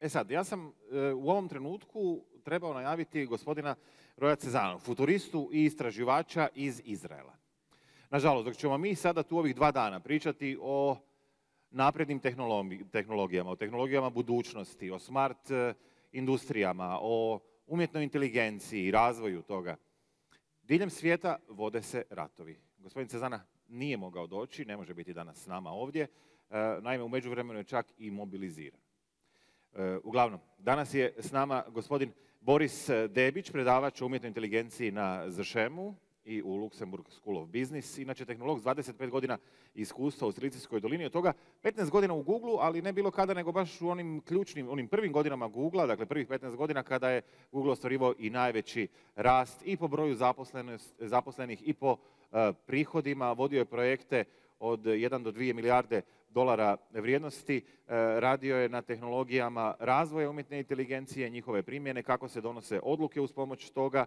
E sad, ja sam u ovom trenutku trebao najaviti gospodina Roya Cezanne, futuristu i istraživača iz Izraela. Nažalost, dok ćemo mi sada tu ovih 2 dana pričati o naprednim tehnologijama, o tehnologijama budućnosti, o smart industrijama, o umjetnoj inteligenciji i razvoju toga, diljem svijeta vode se ratovi. Gospodin Cezana nije mogao doći, ne može biti danas s nama ovdje, naime u međuvremenu je čak i mobiliziran. Uglavnom, danas je s nama gospodin Boris Debić, predavač o umjetnoj inteligenciji na ZŠEM-u i u Luxembourg School of Business, inače tehnolog s 25 godina iskustva u Silicijskoj dolini, od toga 15 godina u Google, ali ne bilo kada, nego baš u onim ključnim, onim prvim godinama Google-a, dakle prvih 15 godina kada je Google ostvarivao i najveći rast i po broju zaposlenih i po prihodima, vodio je projekte od 1 do 2 milijarde dolara vrijednosti, radio je na tehnologijama razvoja umjetne inteligencije, njihove primjene, kako se donose odluke uz pomoć toga.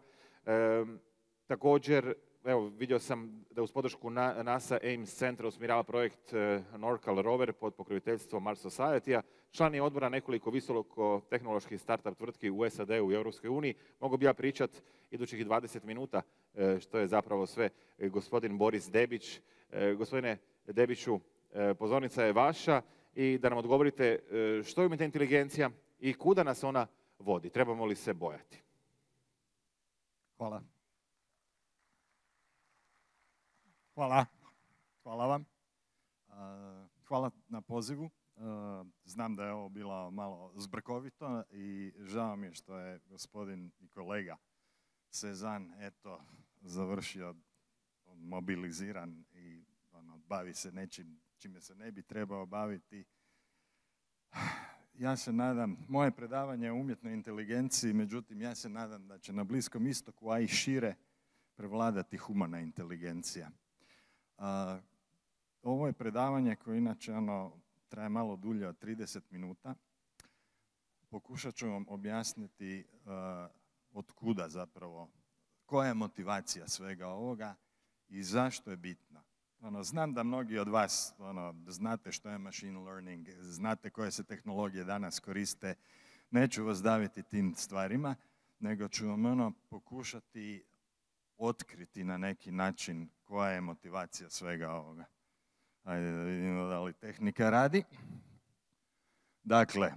Također, evo, vidio sam da uz podršku NASA Ames centra usmjerava projekt NORCAL Rover pod pokroviteljstvom Mars Society-a. Član je odbora nekoliko visokotehnoloških startup tvrtki u SAD-u i Europskoj uniji. Mogu bi ja pričat idućih 20 minuta što je zapravo sve gospodin Boris Debić. Gospodine Debiću, pozornica je vaša i da nam odgovorite što je umjetna inteligencija i kuda nas ona vodi. Trebamo li se bojati? Hvala. Hvala vam. Hvala na pozivu. Znam da je ovo bilo malo zbrkovito i žao mi je što je gospodin i kolega Cezanne eto završio mobiliziran i bavi se nečim čime se ne bi trebao baviti. Ja se nadam, moje predavanje je o umjetnoj inteligenciji, međutim ja se nadam da će na Bliskom istoku, a i šire, prevladati humana inteligencija. Ovo je predavanje koje inače traje malo dulje od 30 minuta. Pokušat ću vam objasniti od kuda zapravo, koja je motivacija svega ovoga i zašto je bitna. Znam da mnogi od vas znate što je machine learning, znate koje se tehnologije danas koriste. Neću vas daviti tim stvarima, nego ću vam pokušati otkriti na neki način koja je motivacija svega ovoga. Ajde da vidimo da li tehnika radi. Dakle,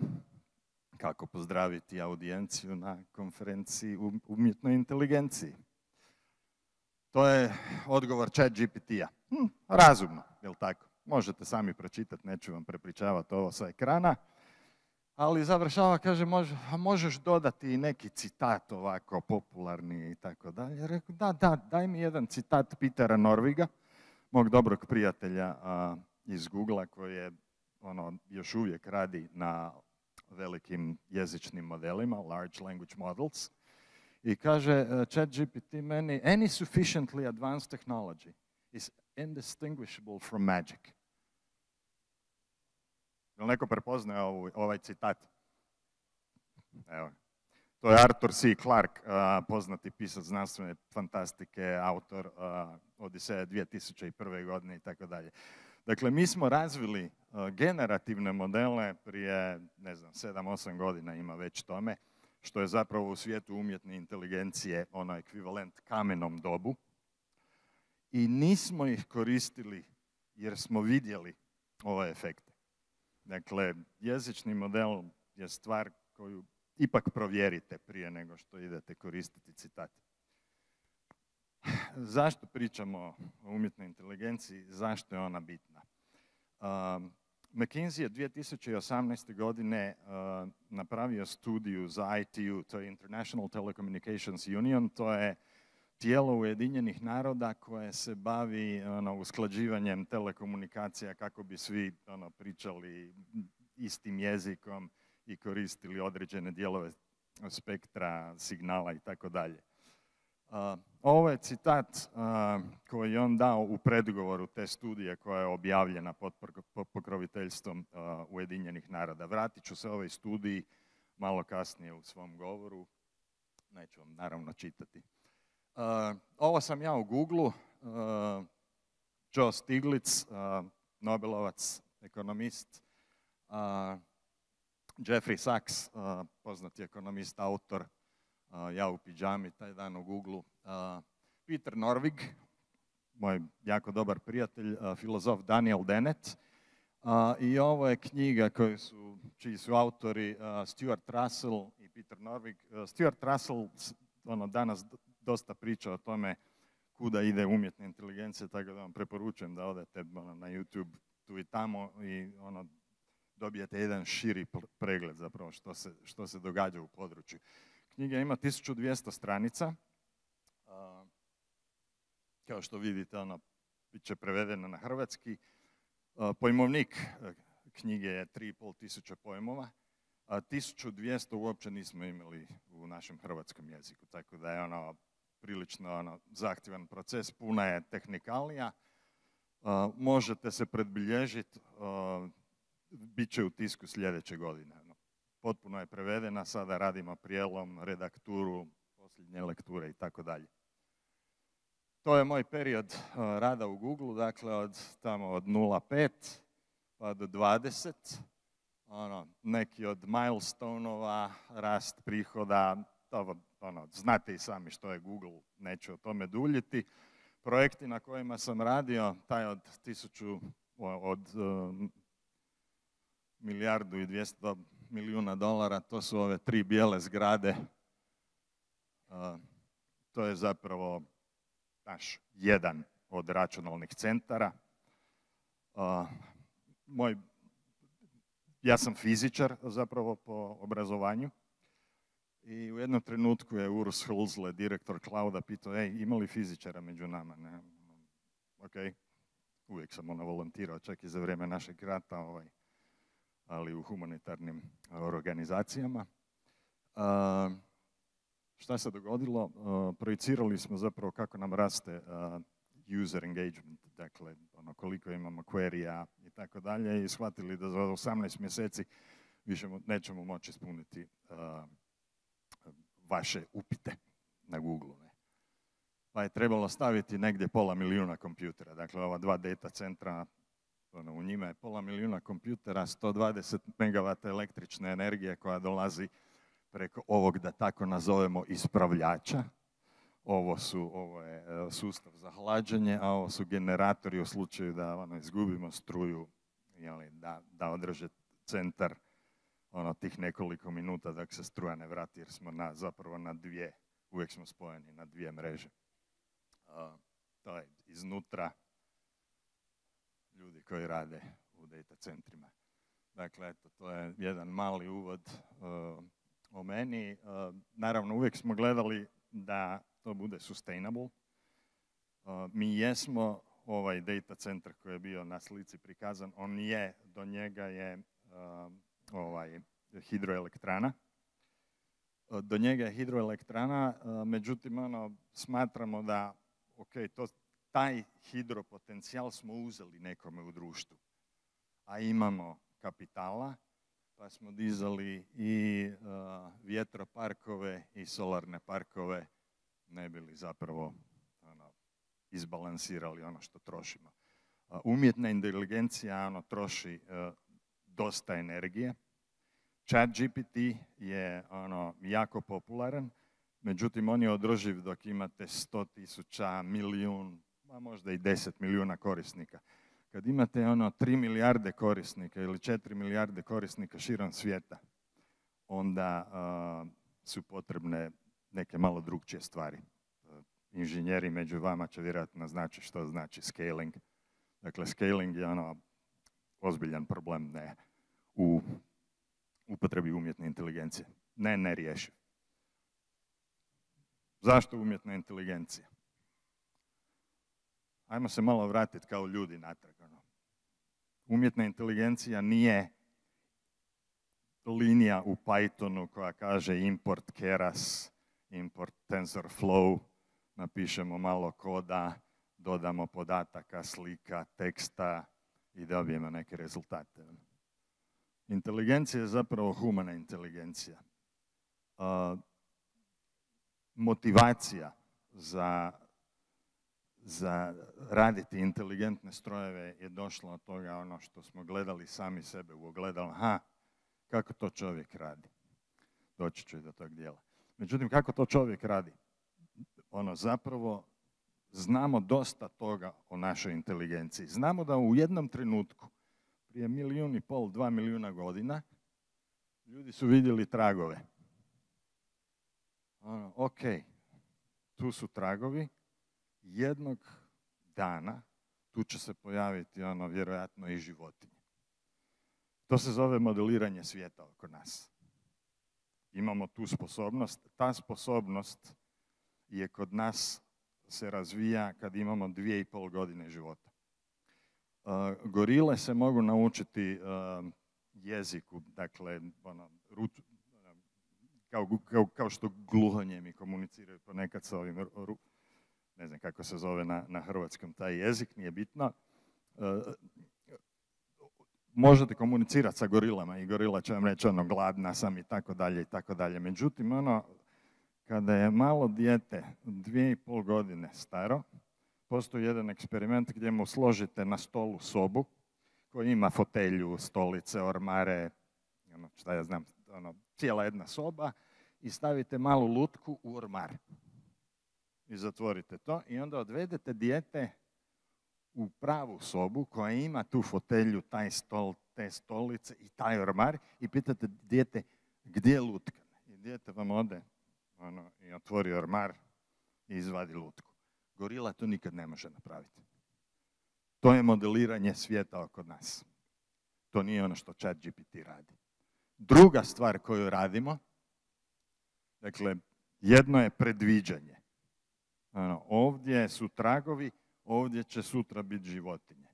kako pozdraviti audijenciju na konferenciji o umjetnoj inteligenciji? To je odgovor ChatGPT-a. Razumno, jel tako? Možete sami pročitati, neću vam prepričavati ovo sa ekrana. Ali završava, kaže, možeš dodati i neki citat ovako popularni i tako dalje. Rekao, da, daj mi jedan citat Petera Norviga, mog dobrog prijatelja iz Google-a koji je još uvijek radi na velikim jezičnim modelima, large language models. I kaže ChatGPT meni, any sufficiently advanced technology is indistinguishable from magic. Jel neko prepoznaje ovaj citat? Evo. To je Arthur C. Clarke, poznati pisac znanstvene fantastike, autor Odiseja 2001. godine i tako dalje. Dakle, mi smo razvili generativne modele prije, 7-8 godina ima već tome, što je zapravo u svijetu umjetne inteligencije ekvivalent kamenom dobu. I nismo ih koristili jer smo vidjeli ove efekte. Dakle, jezični model je stvar koju ipak provjerite prije nego što idete koristiti citat. Zašto pričamo o umjetnoj inteligenciji? Zašto je ona bitna? McKinsey je 2018. godine napravio studiju za ITU, to je International Telecommunications Union, to je tijelo Ujedinjenih naroda koje se bavi usklađivanjem telekomunikacija kako bi svi pričali istim jezikom i koristili određene dijelove spektra, signala i tako dalje. Ovo je citat koji je on dao u predgovoru te studije koja je objavljena pod pokroviteljstvom Ujedinjenih naroda. Vratit ću se ovoj studiji malo kasnije u svom govoru. Neću vam naravno čitati. Ovo sam ja u Google-u. Joe Stiglitz, Nobelovac, ekonomist, Jeffrey Sachs, poznati ekonomist, autor Ja u pidžami, taj dan u Google. Peter Norvig, moj jako dobar prijatelj, filozof Daniel Dennett. I ovo je knjiga čiji su autori Stuart Russell i Peter Norvig. Stuart Russell danas dosta priča o tome kuda ide umjetna inteligencija, tako da vam preporučujem da odete na YouTube tu i tamo i dobijete jedan širi pregled zapravo što se događa u području. Knjiga ima 1200 stranica. Kao što vidite, bit će prevedena na hrvatski. Pojmovnik knjige je 3500 pojmova, a 1200 uopće nismo imali u našem hrvatskom jeziku, tako da je prilično zahtjevan proces, puna je tehnikalija. Možete se predbilježiti, bit će u tisku sljedeće godine. Potpuno je prevedena, sada radimo prijelom, redakturu, posljednje lekture i tako dalje. To je moj period rada u Google, dakle od 0,5 pa do 20. Neki od milestone-ova, rast prihoda, znate i sami što je Google, neću o tome duljiti. Projekti na kojima sam radio, taj od milijardu i 200 milijuna dolara, to su ove 3 bijele zgrade. To je zapravo naš jedan od računalnih centara. Ja sam fizičar zapravo po obrazovanju i u jednom trenutku je Urs Hulsle, direktor Clouda, pitao, ima li fizičara među nama? Ne? Ok, uvijek sam volontirao, čak i za vrijeme našeg rata, ali u humanitarnim organizacijama. Šta se dogodilo? Projicirali smo zapravo kako nam raste user engagement, dakle koliko imamo query-a i tako dalje i shvatili da za 18 mjeseci više nećemo moći ispuniti vaše upite na Google. Pa je trebalo staviti negdje 500 000 kompjutera, dakle ova 2 data centra, u njima je 500 000 kompjutera, 120 megavata električne energije koja dolazi preko ovog, da tako nazovemo, ispravljača. Ovo je sustav za hlađenje, a ovo su generatori u slučaju da izgubimo struju, da održe centar tih nekoliko minuta dok se struja ne vrati, jer smo zapravo na dvije, uvijek smo spojeni na 2 mreže. To je iznutra ljudi koji rade u data centrima. Dakle, eto, to je jedan mali uvod o meni. Naravno, uvijek smo gledali da to bude sustainable. Mi jesmo ovaj data centar koji je bio na slici prikazan, do njega je hidroelektrana. Do njega je hidroelektrana, međutim, smatramo da, taj hidropotencijal smo uzeli nekome u društvu, a imamo kapitala, pa smo dizali i vjetroparkove i solarne parkove, ne bi li zapravo izbalansirali ono što trošimo. Umjetna inteligencija troši dosta energije. ChatGPT je jako popularan, međutim on je održiv dok imate 100.000, milijun, a možda i 10 milijuna korisnika. Kad imate 3 milijarde korisnika ili 4 milijarde korisnika širom svijeta, onda su potrebne neke malo drugčije stvari. Inženjeri među vama će vjerojatno znači što znači scaling. Dakle, scaling je ozbiljan problem u upotrebi umjetne inteligencije. Ne riješiv. Zašto umjetna inteligencija? Ajmo se malo vratiti kao ljudi natrag. Umjetna inteligencija nije linija u Pythonu koja kaže import keras, import TensorFlow, napišemo malo koda, dodamo podataka, slika, teksta i dobijemo neke rezultate. Inteligencija je zapravo humana inteligencija. Motivacija za raditi inteligentne strojeve je došlo od toga što smo gledali sami sebe u ogledalu. kako to čovjek radi. Doći ću i do tog dijela. Međutim, kako to čovjek radi? Zapravo, znamo dosta toga o našoj inteligenciji. Znamo da u jednom trenutku, prije 1,5 milijuna, 2 milijuna godina, ljudi su vidjeli tragove. Ok, tu su tragovi, jednog dana tu će se pojaviti vjerojatno i životinje. To se zove modeliranje svijeta oko nas. Imamo tu sposobnost. Ta sposobnost je kod nas se razvija kad imamo 2,5 godine života. Gorile se mogu naučiti jeziku, dakle, kao što gluhonijemi komuniciraju ponekad sa ovim, ne znam kako se zove na hrvatskom taj jezik, nije bitno. Možete komunicirati sa gorilama i gorila će vam reći gladna sam i tako dalje i tako dalje. Međutim, kada je malo dijete 2,5 godine staro, postoji jedan eksperiment gdje mu složite na stolu sobu koja ima fotelju, stolice, ormare, šta ja znam, cijela jedna soba i stavite malu lutku u ormar. I zatvorite to i onda odvedete dijete u pravu sobu koja ima tu fotelju, taj stol, te stolice i taj ormar i pitate dijete gdje je lutka. I dijete vam ode i otvori ormar i izvadi lutku. Gorila to nikad ne može napraviti. To je modeliranje svijeta oko nas. To nije ono što ChatGPT radi. Druga stvar koju radimo, dakle, jedno je predviđanje. Ovdje su tragovi, ovdje će sutra biti životinje.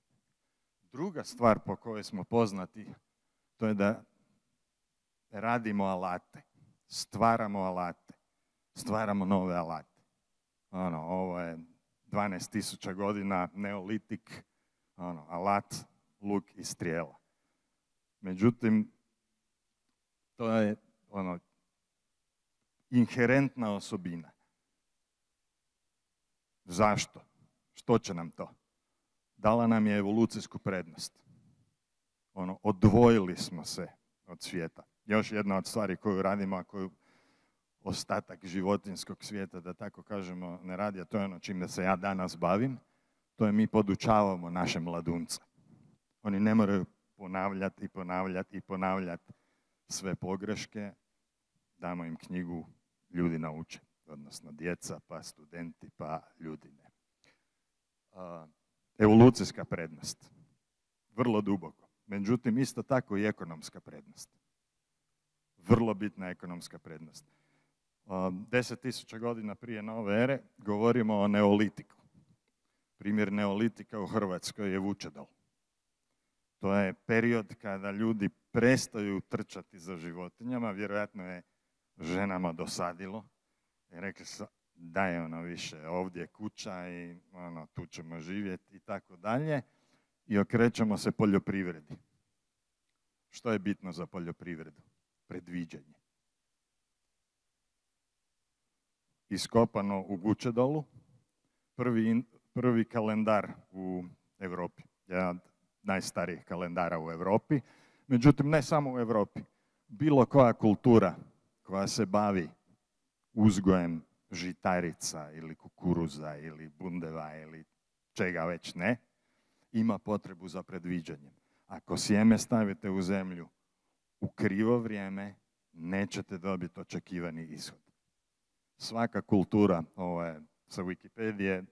Druga stvar po kojoj smo poznati, to je da radimo alate, stvaramo alate, stvaramo nove alate. Ovo je 12.000 godina, neolitik, alat, luk i strijela. Međutim, to je inherentna osobina. Zašto? Što će nam to? Dala nam je evolucijsku prednost. Odvojili smo se od svijeta. Još jedna od stvari koju radimo, a koju ostatak životinjskog svijeta, da tako kažemo, ne radi, a to je ono čime se ja danas bavim, to je mi podučavamo naše mladunce. Oni ne moraju ponavljati sve pogreške, damo im knjigu, ljudi nauče, odnosno djeca, pa studenti, pa ljudi ne. Evolucijska prednost, vrlo duboko. Međutim, isto tako i ekonomska prednost. Vrlo bitna ekonomska prednost. 10.000 godina prije nove ere govorimo o neolitiku. Primjer neolitika u Hrvatskoj je Vučedol. To je period kada ljudi prestaju trčati za životinjama, vjerojatno je ženama dosadilo. I rekli su, daj više, ovdje je kuća i tu ćemo živjeti i tako dalje. I okrećemo se poljoprivredi. Što je bitno za poljoprivredu? Predviđanje. Iskopano u Vučedolu, prvi kalendar u Europi. Jedan od najstarijih kalendara u Europi. Međutim, ne samo u Europi. Bilo koja kultura koja se bavi uzgojem žitarica ili kukuruza ili bundeva ili čega već ne, ima potrebu za predviđanjem. Ako sjeme stavite u zemlju u krivo vrijeme, nećete dobiti očekivani ishod. Svaka kultura, ovo je sa Wikipedije,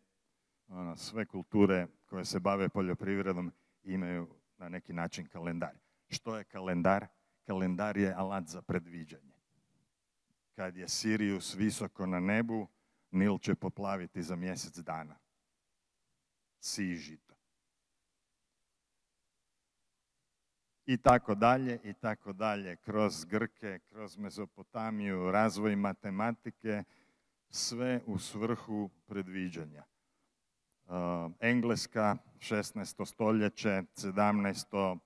sve kulture koje se bave poljoprivredom imaju na neki način kalendar. Što je kalendar? Kalendar je alat za predviđanje. Kad je Sirius visoko na nebu, Nil će poplaviti za mjesec dana. Sij žito. I tako dalje, kroz Grke, kroz Mezopotamiju, razvoj matematike, sve u svrhu predviđanja. Engleska, 16. stoljeće, 17.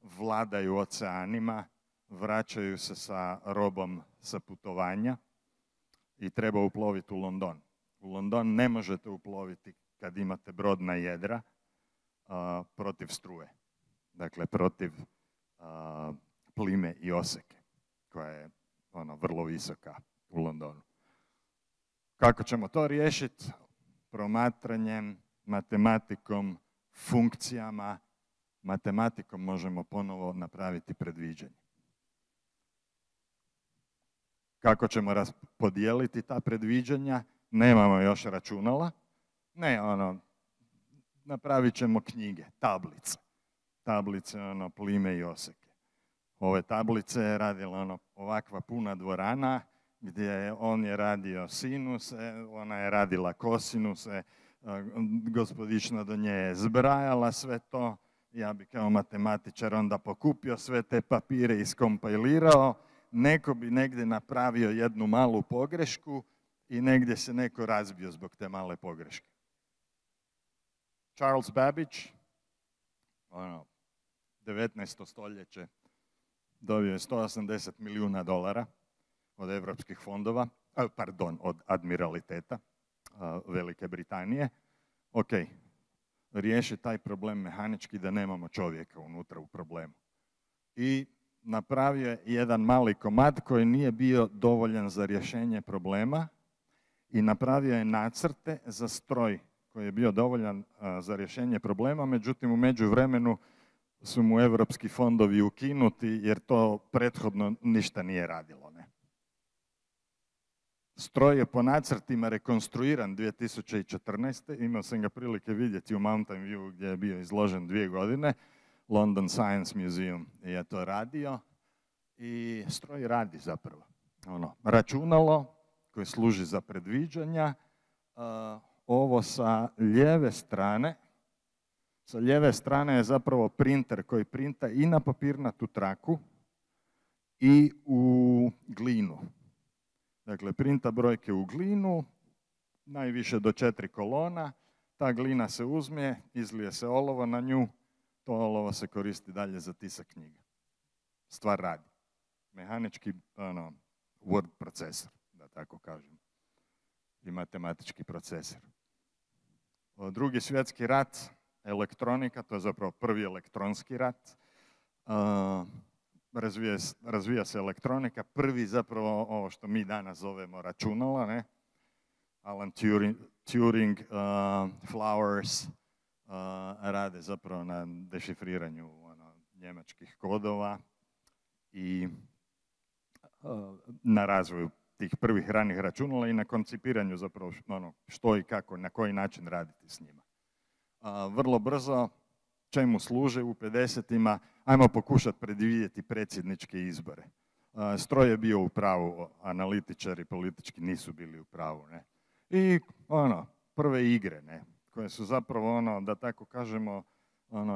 vladaju oceanima, vraćaju se sa robom sa putovanja i treba uploviti u London. U London ne možete uploviti kad imate brodna jedra protiv struje. Dakle, protiv plime i oseke, koja je vrlo visoka u Londonu. Kako ćemo to riješiti? Promatranjem, matematikom, funkcijama. Matematikom možemo ponovo napraviti predviđanje. Kako ćemo podijeliti ta predviđanja? Nemamo još računala. Ne, napravit ćemo knjige, tablice. Tablice, plime i oseke. Ove tablice je radila ovakva puna dvorana, gdje on je radio sinuse, ona je radila kosinuse, gospodična do nje je zbrajala sve to. Ja bi kao matematičar onda pokupio sve te papire i iskompilirao. Neko bi negdje napravio jednu malu pogrešku i negdje se neko razbio zbog te male pogreške. Charles Babbage, 19. stoljeće, dobio je $180 milijuna od evropskih fondova, od admiraliteta Velike Britanije. Ok, riješi taj problem mehanički da nemamo čovjeka unutra u problemu. I napravio je jedan mali komad koji nije bio dovoljan za rješenje problema i napravio je nacrte za stroj koji je bio dovoljan za rješenje problema, međutim u međuvremenu su mu evropski fondovi ukinuti jer to prethodno ništa nije radilo. Ne? Stroj je po nacrtima rekonstruiran 2014. Imao sam ga prilike vidjeti u Mountain View gdje je bio izložen 2 godine. London Science Museum je to radio i stroj radi zapravo. Računalo koje služi za predviđanja, ovo sa lijeve strane je zapravo printer koji printa i na papirnatu traku i u glinu. Dakle, printa brojke u glinu, najviše do 4 kolona, ta glina se uzme, izlije se olovo na nju, to olovo se koristi dalje za tisak knjiga. Stvar radi. Mehanički word procesor, da tako kažem, i matematički procesor. Drugi svjetski rat, elektronika, to je zapravo prvi elektronski rat. Razvija se elektronika, prvi zapravo ovo što mi danas zovemo računala, ne? Alan Turing, Flowers rade zapravo na dešifriranju njemačkih kodova i na razvoju tih prvih ranih računala i na koncipiranju zapravo što i kako, na koji način raditi s njima. Vrlo brzo, čemu služe u 50-ima, ajmo pokušati predvidjeti predsjedničke izbore. Stroj je bio u pravu, analitičari politički nisu bili u pravu. Ne? I prve igre, ne? Koje su zapravo da tako kažemo,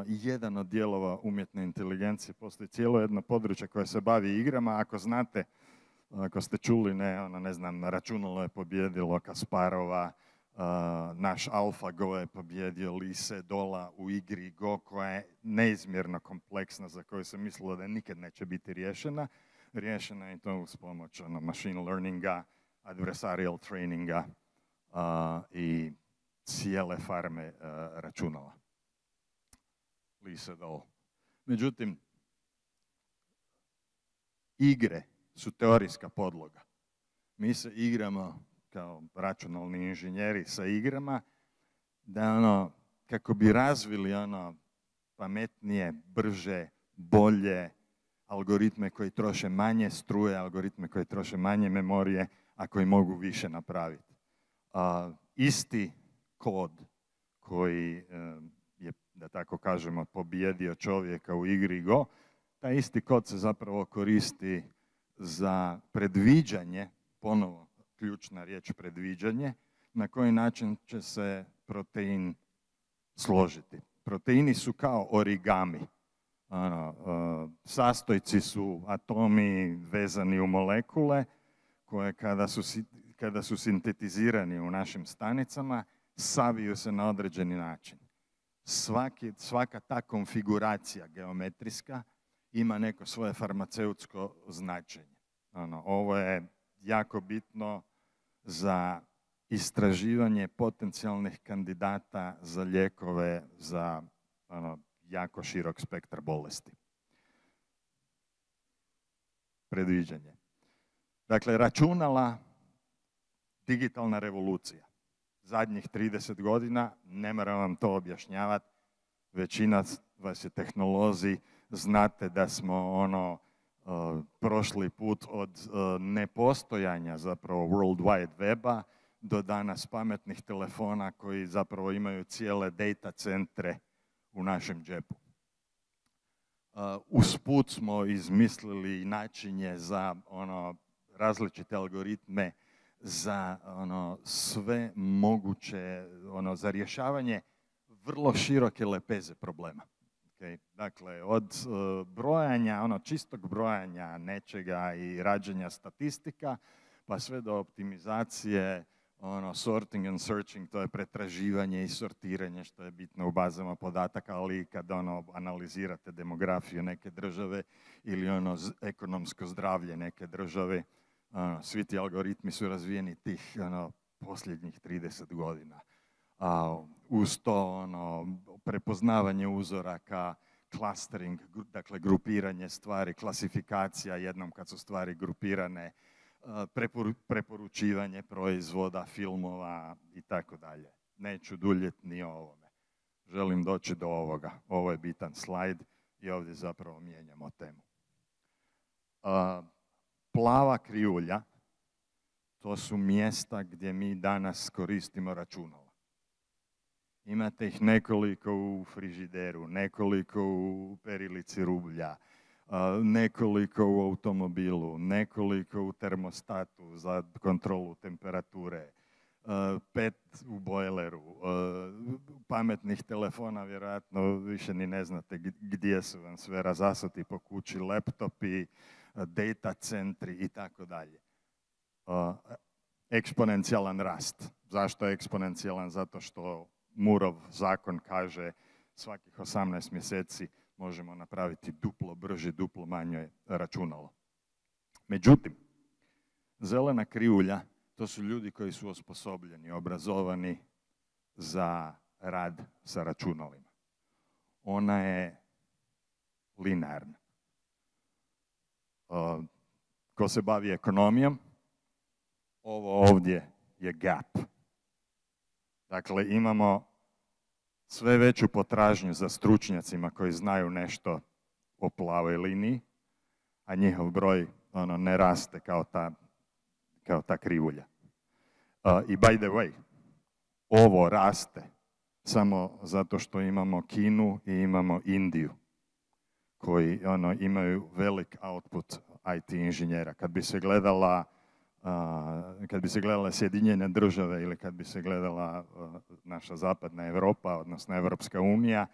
jedan od dijelova umjetne inteligencije. Postoji cijelo jedno područje koje se bavi igrama. Ako znate, ako ste čuli, ne znam, računalo je pobjedilo Kasparova, naš AlphaGo je pobjedio Lise Dola u igri Go, koja je neizmjerno kompleksna, za koju se mislilo da nikad neće biti riješena. Riješena je to uz pomoć machine learninga, adversarial traininga i cijele farme računala. Lisa Dola. Međutim, igre su teorijska podloga. Mi se igramo kao računalni inženjeri sa igrama, da kako bi razvili pametnije, brže, bolje algoritme koji troše manje struje, algoritme koji troše manje memorije, a koji mogu više napraviti. Isti kod koji je, da tako kažemo, pobijedio čovjeka u igri Go, taj isti kod se zapravo koristi za predviđanje, ponovo ključna riječ predviđanje, na koji način će se protein složiti. Proteini su kao origami. Sastojci su atomi vezani u molekule koje kada su sintetizirani u našim stanicama, saviju se na određeni način. Svaka ta konfiguracija geometrijska ima neko svoje farmaceutsko značenje. Ovo je jako bitno za istraživanje potencijalnih kandidata za lijekove za jako širok spektar bolesti. predviđanje. Dakle, računala, digitalna revolucija. Zadnjih 30 godina, ne moram vam to objašnjavati, većina vas je tehnolozi, znate da smo prošli put od nepostojanja zapravo World Wide Weba do danas pametnih telefona koji zapravo imaju cijele data centre u našem džepu. Usput smo izmislili načinje za različite algoritme za sve moguće, za rješavanje vrlo široke lepeze problema. Okay? Dakle, od brojanja, čistog brojanja nečega i rađenja statistika, pa sve do optimizacije, sorting and searching, to je pretraživanje i sortiranje, što je bitno u bazama podataka, ali i kad analizirate demografiju neke države ili ekonomsko zdravlje neke države, svi ti algoritmi su razvijeni tih posljednjih 30 godina. Uz to prepoznavanje uzoraka, clustering, dakle grupiranje stvari, klasifikacija jednom kad su stvari grupirane, preporučivanje proizvoda, filmova i tako dalje. Neću duljeti ni o ovome. Želim doći do ovoga. Ovo je bitan slajd i ovdje zapravo mijenjamo temu. Plava krivulja, to su mjesta gdje mi danas koristimo računala. Imate ih nekoliko u frižideru, nekoliko u perilici rublja, nekoliko u automobilu, nekoliko u termostatu za kontrolu temperature, 5 u bojleru, pametnih telefona, vjerojatno više ni ne znate gdje su vam sve razasuti po kući, laptopi, data centri i tako dalje. Eksponencijalan rast. Zašto je eksponencijalan? Zato što Murov zakon kaže svakih 18 mjeseci možemo napraviti duplo brže, duplo manje računalo. Međutim, zelena krivulja, to su ljudi koji su osposobljeni, obrazovani za rad sa računalima. Ona je linearna. Ko se bavi ekonomijom, ovo ovdje je gap. Dakle, imamo sve veću potražnju za stručnjacima koji znaju nešto o plavoj liniji, a njihov broj ne raste kao ta krivulja. I by the way, ovo raste samo zato što imamo Kinu i imamo Indiju, koji imaju velik output IT inženjera. Kad bi se gledala Sjedinjene države ili kad bi se gledala naša zapadna Europa, odnosno Evropska unija,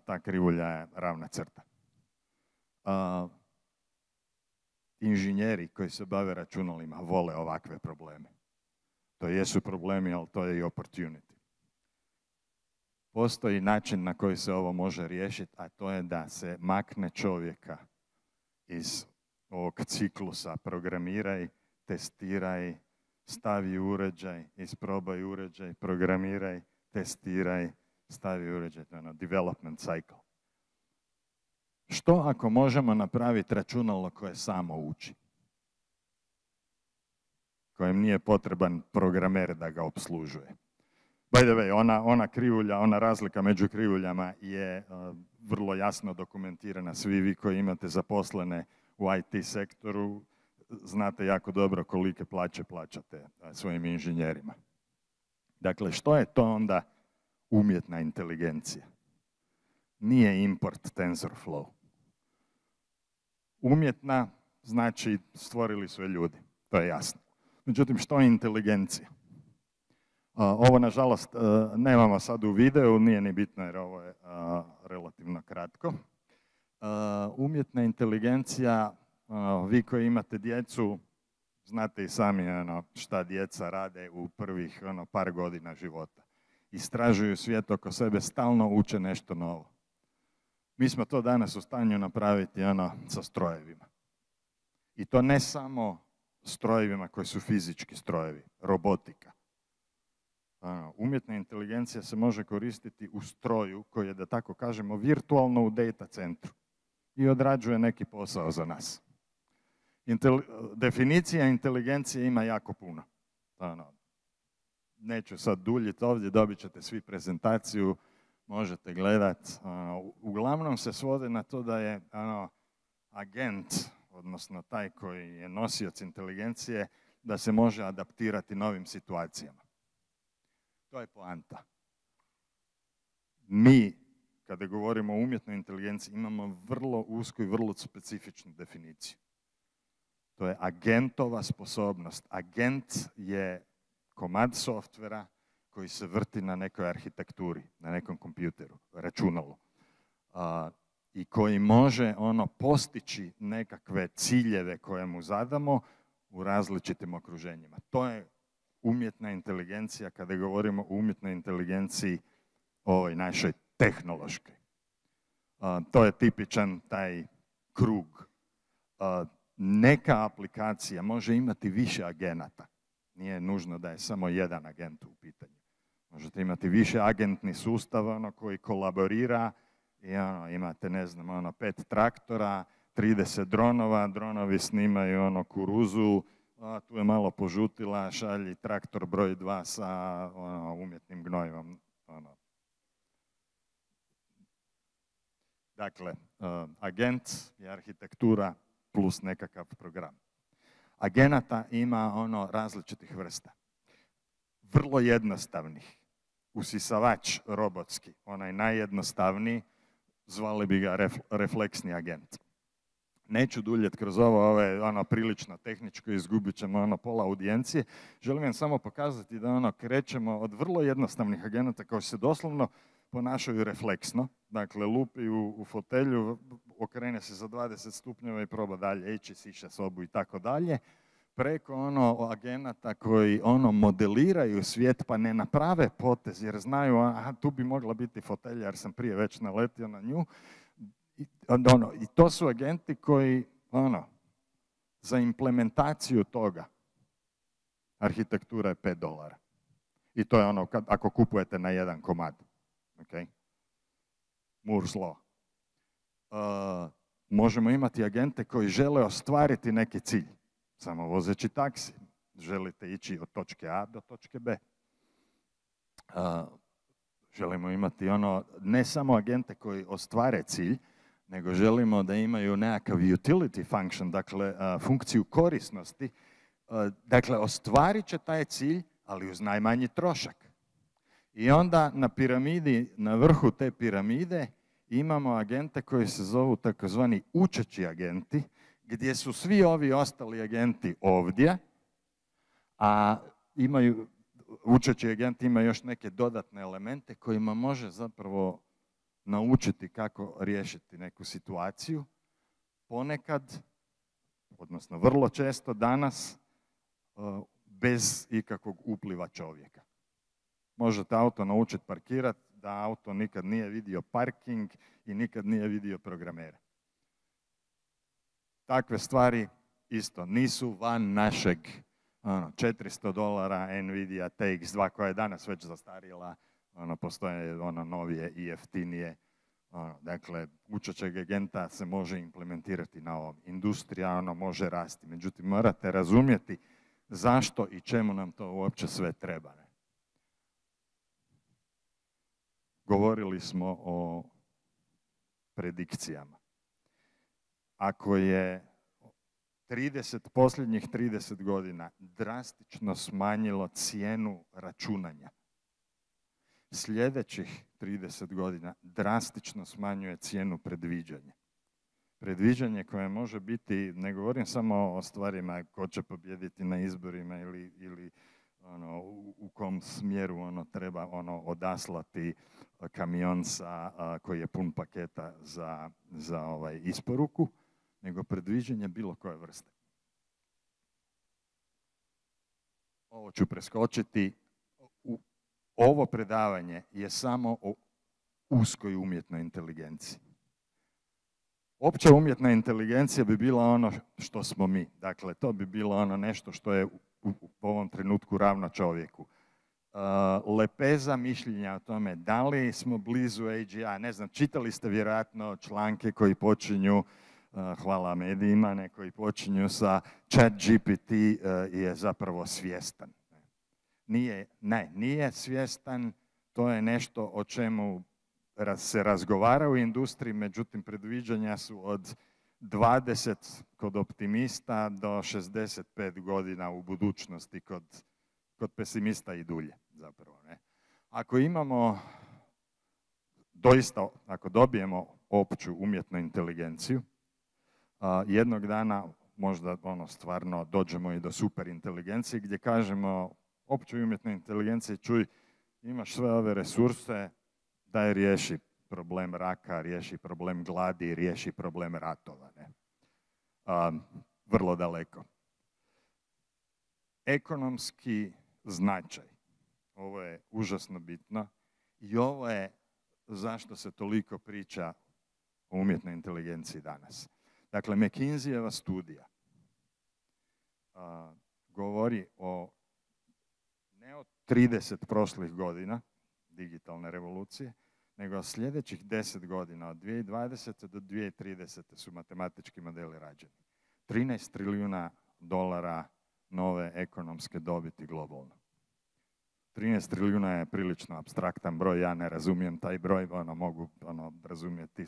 ta krivulja je ravna crta. Inženjeri koji se bave računalima vole ovakve probleme. To jesu problemi, ali to je i opportunity. Postoji način na koji se ovo može riješiti, a to je da se makne čovjeka iz ovog ciklusa programiraj, testiraj, stavi uređaj, isprobaj uređaj, programiraj, testiraj, stavi uređaj, development cycle. Što ako možemo napraviti računalo koje samo uči? Kojem nije potreban programer da ga opslužuje. By the way, ona krivulja, ona razlika među krivuljama je vrlo jasno dokumentirana. Svi vi koji imate zaposlene u IT sektoru, znate jako dobro kolike plaće plaćate svojim inženjerima. Dakle, što je to onda umjetna inteligencija? Nije import TensorFlow. Umjetna znači stvorili su je ljudi, to je jasno. Međutim, što je inteligencija? Ovo, nažalost, nemamo sad u videu, nije ni bitno jer ovo je relativno kratko. Umjetna inteligencija, vi koji imate djecu, znate i sami šta djeca rade u prvih par godina života. Istražuju svijet oko sebe, stalno uče nešto novo. Mi smo to danas u stanju napraviti sa strojevima. I to ne samo strojevima koji su fizički strojevi, robotika. Umjetna inteligencija se može koristiti u stroju koji je, da tako kažemo, virtualno u data centru i odrađuje neki posao za nas. Definicija inteligencije ima jako puno. Neću sad duljiti ovdje, dobit ćete svi prezentaciju, možete gledati. Uglavnom se svode na to da je agent, odnosno taj koji je nosioc inteligencije, da se može adaptirati novim situacijama. To je poanta. Mi, kada govorimo o umjetnoj inteligenciji, imamo vrlo usku i vrlo specifičnu definiciju. To je agentova sposobnost. Agent je komad softvera koji se vrti na nekoj arhitekturi, na nekom kompjuteru, računalu. I koji može postići nekakve ciljeve koje mu zadamo u različitim okruženjima. To je umjetna inteligencija kada govorimo o umjetnoj inteligenciji ovoj našoj tehnološkoj. To je tipičan taj krug. Neka aplikacija može imati više agenata. Nije nužno da je samo jedan agent u pitanju. Možete imati više agentni sustav koji kolaborira i imate, ne znam, 5 traktora, 30 dronova, dronovi snimaju kuruzu, tu je malo požutila, šalji traktor broj 2 sa umjetnim gnojivom. Dakle, agent je arhitektura plus nekakav program. Agenata ima različitih vrsta. Vrlo jednostavnih. Usisavač robotski, onaj najjednostavniji, zvali bi ga refleksni agent. Neću duljeti kroz ovo je prilično tehničko, izgubit ćemo pola audijencije. Želim vam samo pokazati da krećemo od vrlo jednostavnih agenata koji se doslovno ponašaju refleksno. Dakle, lupi u fotelju, okrene se za 20 stupnjeva i proba dalje ići, siše sobu i tako dalje. Preko agenata koji modeliraju svijet pa ne naprave potez jer znaju tu bi mogla biti fotelja jer sam prije već naletio na nju. I to su agenti koji za implementaciju toga arhitektura je $5. I to je ako kupujete na jedan komad. Okay? Moore's law. Možemo imati agente koji žele ostvariti neki cilj. Samo vozeći taksi. Želite ići od točke A do točke B. Želimo imati ne samo agente koji ostvare cilj, nego želimo da imaju nekakav utility function, dakle funkciju korisnosti. Dakle, ostvarit će taj cilj, ali uz najmanji trošak. I onda na piramidi, na vrhu te piramide, imamo agente koji se zovu takozvani učeći agenti, gdje su svi ovi ostali agenti ovdje, a učeći agent ima još neke dodatne elemente kojima može zapravo naučiti kako riješiti neku situaciju. Ponekad, odnosno vrlo često danas, bez ikakvog upliva čovjeka. Možete auto naučiti parkirati, da auto nikad nije vidio parking i nikad nije vidio programera. Takve stvari isto nisu van našeg $400 Nvidia TX2 koja je danas već zastarjela, postoje novije i jeftinije. Dakle, učećeg agenta se može implementirati na ovom. Industrija može rasti, međutim morate razumjeti zašto i čemu nam to uopće sve treba. Govorili smo o predikcijama. Ako je posljednjih 30 godina drastično smanjilo cijenu računanja, sljedećih 30 godina drastično smanjuje cijenu predviđanja. Predviđanje koje može biti, ne govorim samo o stvarima ko će pobijediti na izborima ili u kom smjeru treba odaslati kamion koji je pun paketa za isporuku, nego predviđanje bilo koje vrste. Ovo ću preskočiti. Ovo predavanje je samo o uskoj umjetnoj inteligenciji. Opća umjetna inteligencija bi bila ono što smo mi. Dakle, to bi bilo nešto što je u ovom trenutku ravno čovjeku. Lepeza mišljenja o tome da li smo blizu AGI, ne znam, čitali ste vjerojatno članke koji počinju hvala medijima, neki počinju sa ChatGPT je zapravo svjestan. Nije svjestan, to je nešto o čemu se razgovara u industriji, međutim predviđanja su od 20 kod optimista do 65 godina u budućnosti kod pesimista i dulje zapravo. Ne? Ako imamo doista, ako dobijemo opću umjetnu inteligenciju, jednog dana možda stvarno dođemo i do superinteligencije gdje kažemo općoj umjetnoj inteligenciji, čuj, imaš sve ove resurse, daj riješi problem raka, riješi problem gladi, riješi problem ratova. Ne? Vrlo daleko. Ekonomski značaj. Ovo je užasno bitno i ovo je zašto se toliko priča o umjetnoj inteligenciji danas. Dakle, McKinseyjeva studija govori ne o 30 prošlih godina digitalne revolucije, nego sljedećih 10 godina, od 2020. do 2030. su matematički modeli rađeni. 13 trilijuna dolara nove ekonomske dobiti globalno. 13 trilijuna je prilično apstraktan broj, ja ne razumijem taj broj, mogu razumjeti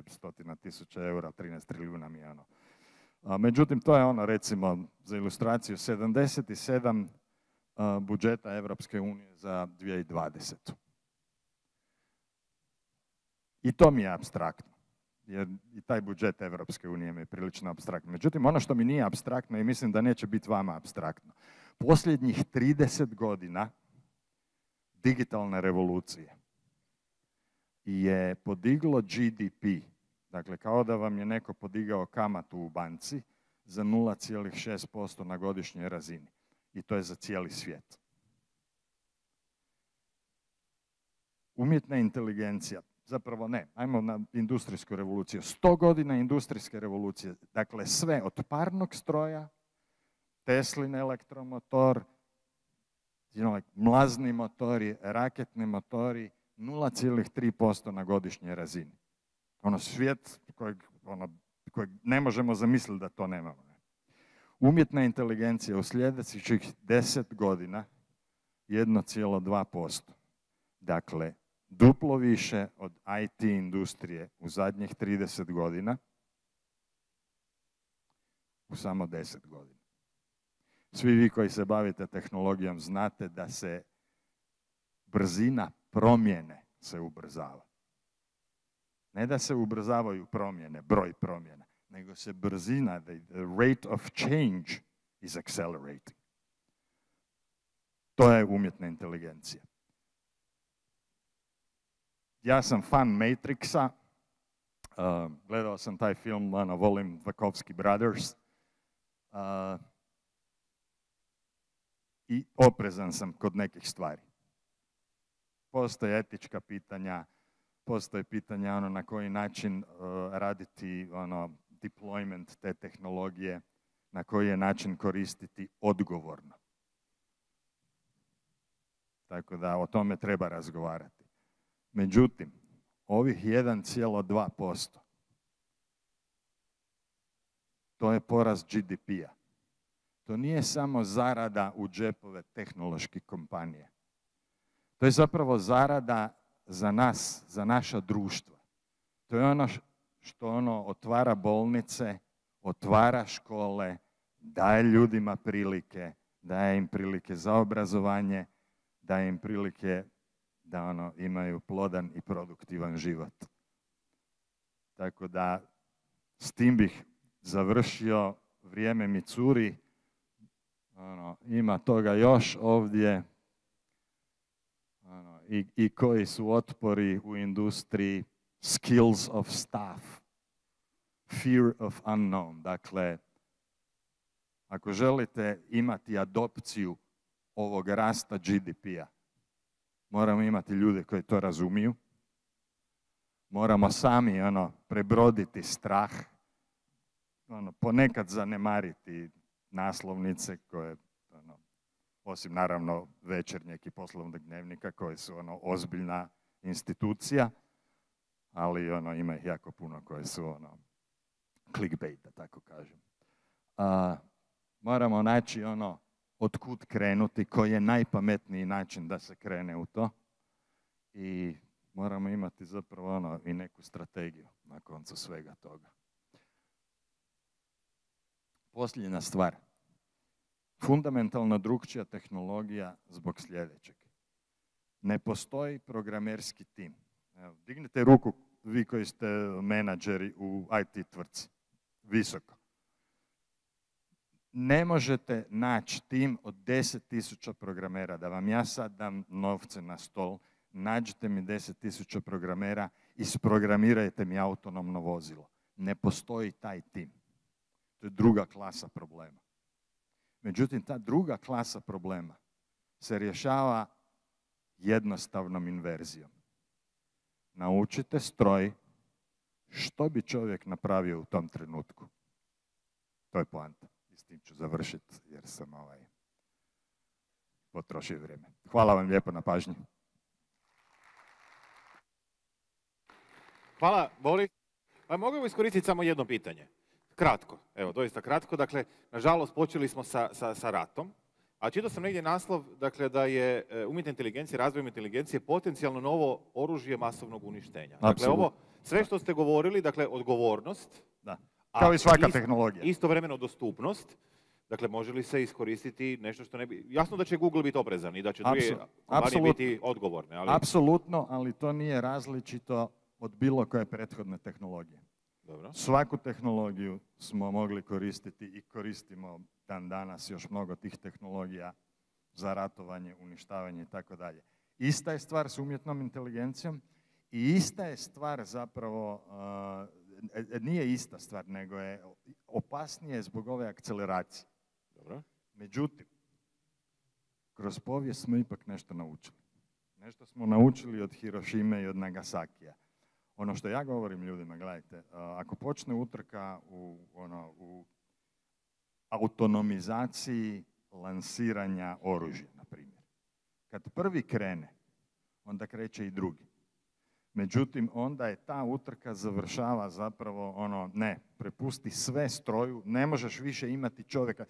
stotina tisuća eura, 13 trilijuna mi je . Međutim, to je recimo, za ilustraciju, 77 budžeta Evropske unije za 2020. I to mi je apstraktno, jer i taj budžet Evropske unije mi je prilično apstraktno. Međutim, ono što mi nije apstraktno i mislim da neće biti vama apstraktno, posljednjih 30 godina digitalne revolucije je podiglo GDP, dakle kao da vam je neko podigao kamatu u banci za 0,6% na godišnjoj razini. I to je za cijeli svijet. Umjetna inteligencija, zapravo ne, ajmo na industrijsku revoluciju. 100 godina industrijske revolucije, dakle sve od parnog stroja, Teslin elektromotor, mlazni motori, raketni motori, 0,3% na godišnjoj razini. Svijet kojeg ne možemo zamisliti da to nemamo. Umjetna inteligencija u sljedećih 10 godina 1,2%. Dakle, duplo više od IT industrije u zadnjih 30 godina u samo 10 godina. Svi vi koji se bavite tehnologijom znate da se brzina promjene se ubrzava. Ne da se ubrzavaju promjene, broj promjena, nego se brzina, the rate of change is accelerating. To je umjetna inteligencija. Ja sam fan Matrixa, gledao sam taj film, volim Wachowski Brothers, i oprezan sam kod nekih stvari. Postoje etička pitanja, postoje pitanja na koji način raditi deployment te tehnologije, na koji je način koristiti odgovorno. Tako da o tome treba razgovarati. Međutim, ovih 1,2%, to je porast GDP-a. To nije samo zarada u džepove tehnoloških kompanija. To je zapravo zarada za nas, za naša društva. To je ono što otvara bolnice, otvara škole, daje ljudima prilike, daje im prilike za obrazovanje, daje im prilike da imaju plodan i produktivan život. Tako da s tim bih završio, vrijeme mi curi, ima toga još ovdje. I koji su otpori u industriji, skills of staff, fear of unknown. Dakle, ako želite imati adopciju ovog rasta GDP-a, moramo imati ljude koji to razumiju, moramo sami prebroditi strah, ponekad zanemariti naslovnice koje, osim naravno Večernjeg i Poslovnog dnevnika koji su ozbiljna institucija, ali ima ih jako puno koje su clickbait, da tako kažem. Moramo naći ono od kud krenuti, koji je najpametniji način da se krene u to i moramo imati zapravo ono i neku strategiju na koncu svega toga. Posljednja stvar. Fundamentalno drukčija tehnologija zbog sljedećeg. Ne postoji programerski tim. Evo, dignite ruku vi koji ste menadžeri u IT tvrtci. Visoko. Ne možete naći tim od 10.000 programera. Da vam ja sad dam novce na stol, nađite mi 10.000 programera, isprogramirajte mi autonomno vozilo. Ne postoji taj tim. To je druga klasa problema. Međutim, ta druga klasa problema se rješava jednostavnom inverzijom. Naučite stroj što bi čovjek napravio u tom trenutku. To je poanta. I s tim ću završiti jer sam potrošio vrijeme. Hvala vam lijepo na pažnji. Hvala, Boris. Pa mogu iskoristiti samo jedno pitanje. Kratko, evo, doista kratko. Dakle, nažalost, počeli smo sa ratom, a čitao sam negdje naslov, dakle, da je umjetna inteligencija, razvoj inteligencije potencijalno novo oružje masovnog uništenja. Dakle, ovo, sve što ste govorili, dakle, odgovornost, da. Kao i svaka tehnologija. Istovremeno dostupnost, dakle, može li se iskoristiti nešto što ne bi... Jasno da će Google biti oprezan i da će druge kompanije biti odgovorne. Ali... Apsolutno, ali to nije različito od bilo koje prethodne tehnologije. Dobro. Svaku tehnologiju smo mogli koristiti i koristimo dan danas još mnogo tih tehnologija za ratovanje, uništavanje i tako dalje. Ista je stvar s umjetnom inteligencijom i ista je stvar zapravo, nije ista stvar, nego je opasnije zbog ove akceleracije. Dobro. Međutim, kroz povijest smo ipak nešto naučili. Nešto smo naučili od Hirošime i od Nagasakija. Ono što ja govorim ljudima, gledajte, ako počne utrka u autonomizaciji lansiranja oružja, na primjer. Kad prvi krene, onda kreće i drugi. Međutim, onda je ta utrka završava zapravo ne, prepusti sve stroju, ne možeš više imati čovjeka.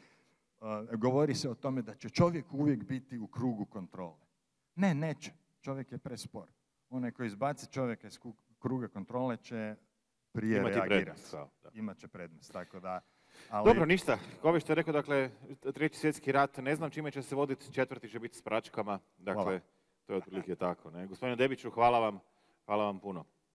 Govori se o tome da će čovjek uvijek biti u krugu kontrole. Ne, neće. Čovjek je prespor. Onaj koji izbaci čovjeka iz kruga kontrole će prije reagirati. Imat će prednost. Tako da, ali... Dobro, ništa. Kao što je rekao, dakle, 3. svjetski rat, ne znam čime će se voditi, 4. će biti s pračkama. Dakle, to je otprilike tako. Ne? Gospodine Debiću, hvala vam puno.